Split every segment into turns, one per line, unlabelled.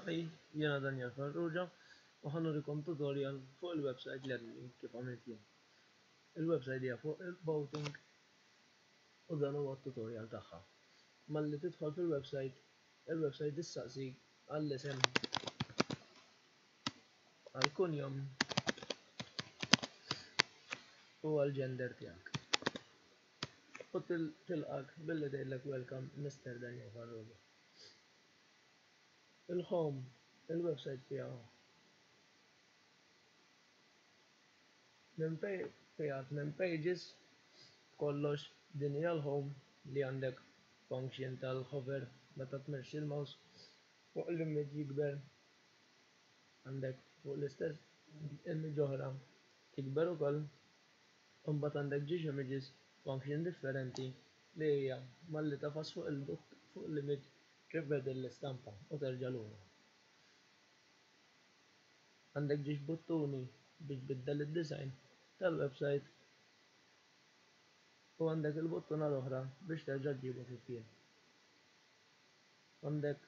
Hi, jiena Daniel Farrugia u ħa nurikom tutorial fuq il-website li għadni kif għamilt jien. Il-website hija fuq il-boating u dan huwa t-tutorial tagħha. Malli tidħol fil-website, il-website issaqsik għall-isem, għall-kunjom u għall-gender tiegħek. U tilqak billi tgħidlek welcome Mister Daniel Farrugia. Il-home, il-website fiha minn fiha tmien pages b'kollox din hija l-home li għandek function tal-hover meta tmexxi l-mouse fuq l-image jikber għandek fuq l-istess image oħra tikber ukoll u mbagħad għandek ġiex images function differenti li hija malli tagħfas fuq il-butt fuq l-image tibdel l-istampa u terġa' lura. Għandek ġiex buttuni biex tbiddel id-design tal-website u għandek il-buttuna l-oħra biex terġa' ġġibu kif kien. Għandek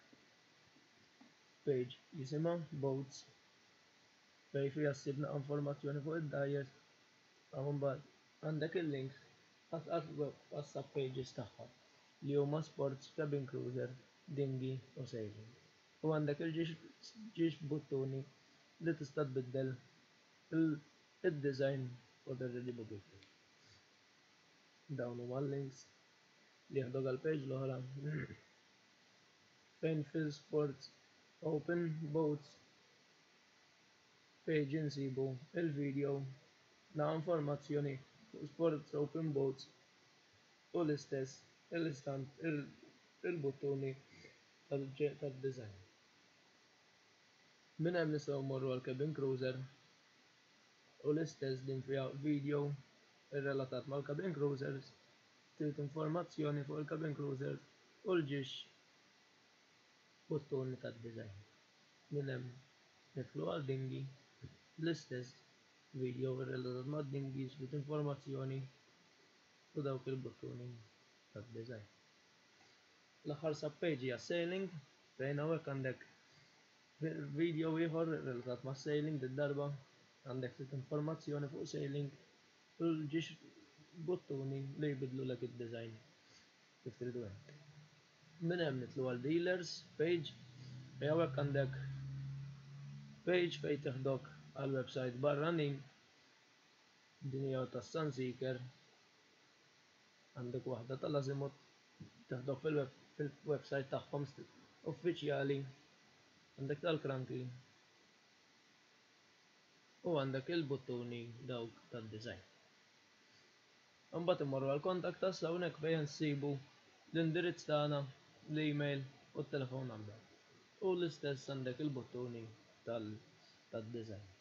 page jisimha Boats fejn fiha ssib naqa' informazzjoni fuq id-dgħajjes u mbagħad għandek il-links għas-sub pages tagħha li huma Sports, Cabin Cruiser, Dinghy u Sailing. U għandek il-ġiex buttuni li tista' tbiddel id-design u terġa' ġġibu kif kien. Dawn huma l-links li jieħduk għall-page l-oħra fejn fil-Sports Open Boats page insibu il-video na informazzjoni fuq Sports Open Boats u l-istess l-istamp il-buttuni tad-design. Minn hemm nistgħu mmorru għal Cabin Cruiser u l-istess din fiha video irrelatat mal-Cabin Cruisers, ftit informazzjoni fuq il-Cabin Cruisers u l-ġiex buttuni tad-design. Minn hemm nidħlu għal dinghy, l-istess video irrelatat mad-dinghies, ftit informazzjoni u dawk il-buttuni tad-design. L-aħħar sub-page hija sailing fejn hawnhekk għandek video ieħor relatat ma' sailing did-darba għandek ftit informazzjoni fuq sailing u l-ġiex buttuni li jbidlulek id-design kif tridu int. Minn hemm nidħlu għal dealers page fejn hawnhekk għandek page fejn teħdok għal website barranin din hija tas-Sunseeker għandek waħda tal-Azimut teħdok fil-website tagħhom uffiċjali għandek tal-Cranchi u għandek il-buttuni dawk tad-design. Imbagħad immorru għal contact us hawnhekk fejn nsibu l-indirizz tagħna, l-email u t-telephone number. U l-istess għandek il-buttuni tad-design.